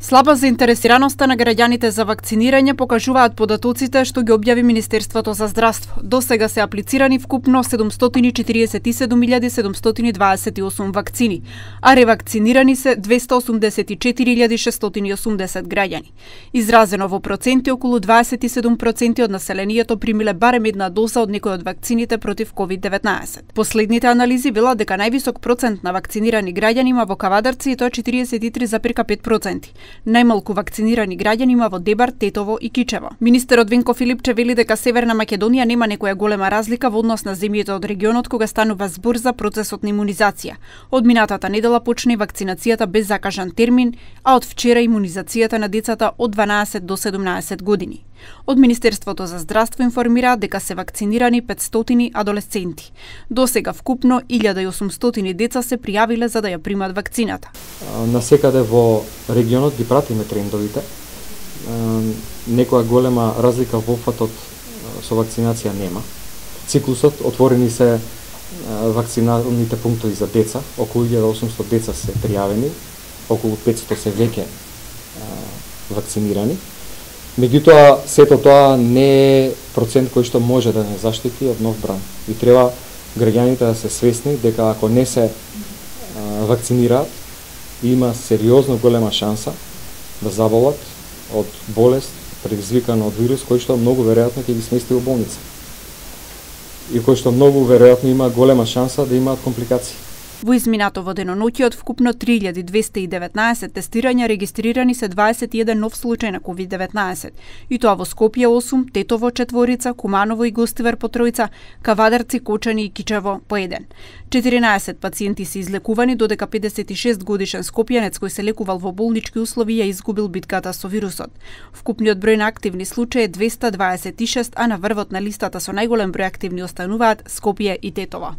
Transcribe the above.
Слаба заинтересираноста на граѓаните за вакцинирање покажуваат податоците што ги објави Министерството за здравство. До сега се аплицирани вкупно 747.728 вакцини, а ревакцинирани се 284.680 граѓани. Изразено во проценти, околу 27% од населението примиле барем една доза од некој од вакцините против COVID-19. Последните анализи велат дека највисок процент на вакцинирани граѓани има во Кавадарци и тоа 43,5%. Најмалку вакцинирани граѓани има во Дебар, Тетово и Кичево. Министерот Венко Филипче вели дека Северна Македонија нема некоја голема разлика во однос на земјите од регионот кога станува збор за процесот на имунизација. Од минатата недела почна и вакцинацијата без закажан термин, а од вчера имунизацијата на децата од 12 до 17 години. Од Министерството за здравство информираат дека се вакцинирани 500 адолесценти. До сега вкупно 1800 деца се пријавиле за да ја примат вакцината. Насекаде во регионот ги пратиме трендовите. Некоја голема разлика во опфатот со вакцинација нема. Циклусот, отворени се вакциналните пунктови за деца, околу 1800 деца се пријавени, околу 500 се веќе вакцинирани. Меѓутоа, сето тоа не е процент кој што може да не заштити од нов бран. И треба граѓаните да се свесни дека ако не се вакцинираат, има сериозно голема шанса да заболат од болест предизвикана од вирус кој што многу веројатно ќе ги смести во болница. И кој што многу веројатно има голема шанса да имаат компликации. Во изминатово деноноќе од вкупно 3219 тестирања регистрирани се 21 нов случај на COVID-19, и тоа во Скопје 8, Тетово 4, Куманово и Гостивар по 3, Кавадарци, Кочани и Кичево по 1. 14 пациенти се излекувани, додека 56 годишен скопјанец кој се лекувал во болнички услови ја изгубил битката со вирусот. Вкупниот број на активни случаи е 226, а на врвот на листата со најголем број активни остануваат Скопје и Тетово.